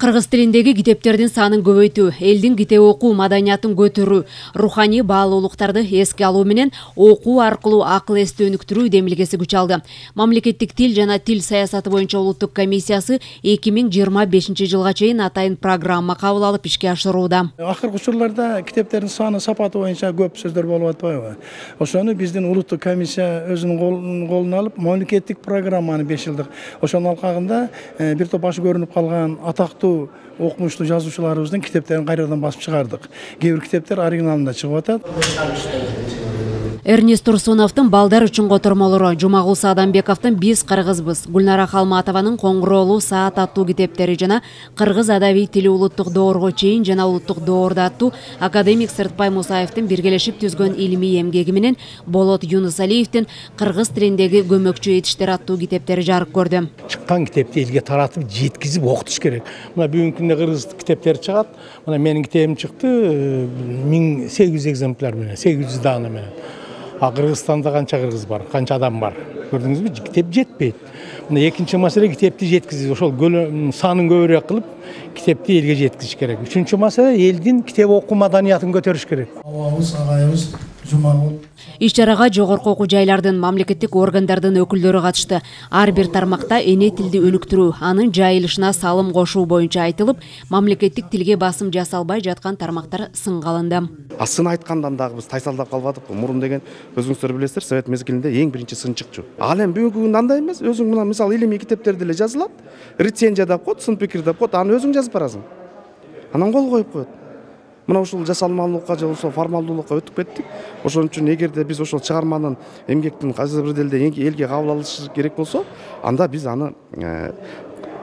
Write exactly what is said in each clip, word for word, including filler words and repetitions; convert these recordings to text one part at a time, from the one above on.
Кыргыз тилиндеги китептердин санын көбөйтүү, элдин китеп окуу маданиятын көтөрүү, руханий баалуулуктарды эске алуу менен окуу аркылуу акыл эсти өнүктүрүү демилгеси күч алды. Мамлекеттик тил жана тил саясаты боюнча улуттук комиссиясы эки миң жыйырма бешинчи жылга чейин атайын программа кабыл алып ишке ашырууда. Акыркы учурларда китептердин саны сапаты боюнча көп сөздөр болуп атпайбы? Ошону биздин улуттук комиссия өзүнүн колуна алып, мамлекеттик программаны беш жылдык ошонун алкагында бир топ башы көрүнүп калган атактуу окумуштуу жазуучуларыбыздын китептерин кайрадан басып чыгардык. Кээ бир китептер оригиналында чыгып атат. Эрнест Турсуновдун балдар үчүн котормолору, Жумагул Саадамбековдун Биз кыргызбыз, Гүлнара Халматованын Коңгуроолуу саат аттуу китептери жана Кыргыз адабий тили улуттук доорго чейин жана улуттук доордо аттуу академик Сыртпай Мусаевдин биргелешип түзгөн илимий эмгеги менен Болот Юнусалиевдин Кыргыз тилиндеги көмөкчү этиштер аттуу китептери жарык көрдү. Чыккан китепти элге таратып, жеткизип окутуш керек. Мына бүгүнкү күндө кыргыз китептери чыгат. Мына менин китебим чыкты миң сегиз жүз экземпляр менен, сегиз жүз дана менен. А Кыргызстанда канча кыргыз бар, канча адам бар. Көрдүңүзбү? Китеп жетпейт. Мына экинчи маселе китепти жеткизип, ошол санын көбүрөөк кылып, китепти элге жеткизиш керек. Үчүнчү маселе элдин китеп окуу маданиятын көтөрүш керек. Абабыз, агайыбыз Жумагул. Иш-чарага жогорку окуу жайлардын, мамлекеттик органдардын өкүлдөрү катышты. Ар бир тармакта эне тилди өнүктүрүү, анын жайылышына салым кошуу боюнча айтылып, мамлекеттик тилге басым жасалбай жаткан тармактар сынга алынды. Асын айткандан дагы биз тайсалдап калбадыкпы? Мурун деген өзүңүздөр билесиздер, Совет мезгилинде эң биринчи сын чыкчу. Ал эми бүгүнкү күндө андай эмес. Өзүң мына мисалы илимий китептерде эле жазылат. Рецензия деп коет, сын пикир деп коет, аны өзүң жазып барасың. Анан кол коюп коет. Мына ушул жасалмалуулукка же болсо формалдуулукка өтүп кеттик. Ошон үчүн эгерде биз ошол чыгарманын эмгектин кайсы бир делде элге кабыл алышы керек болсо, анда биз аны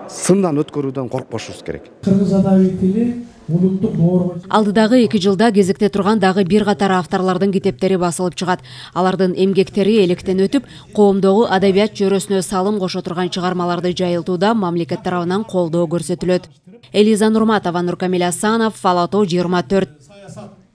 сындан өткөрүүдөн коркпошубуз керек. Кыргыз адабий тили улуттук доорго. Алдыдагы эки жылда кезекте турган дагы бир катар авторлордун китептери басылып чыгат. Алардын эмгектери электен өтүп, коомдогу адабият чөйрөсүнө салым кошо турган чыгармаларды жайылтууда мамлекет тарабынан колдоо көрсөтүлөт. Элиза Нурматова, Нуркамил Асанов, Ала тоо жыйырма төрт.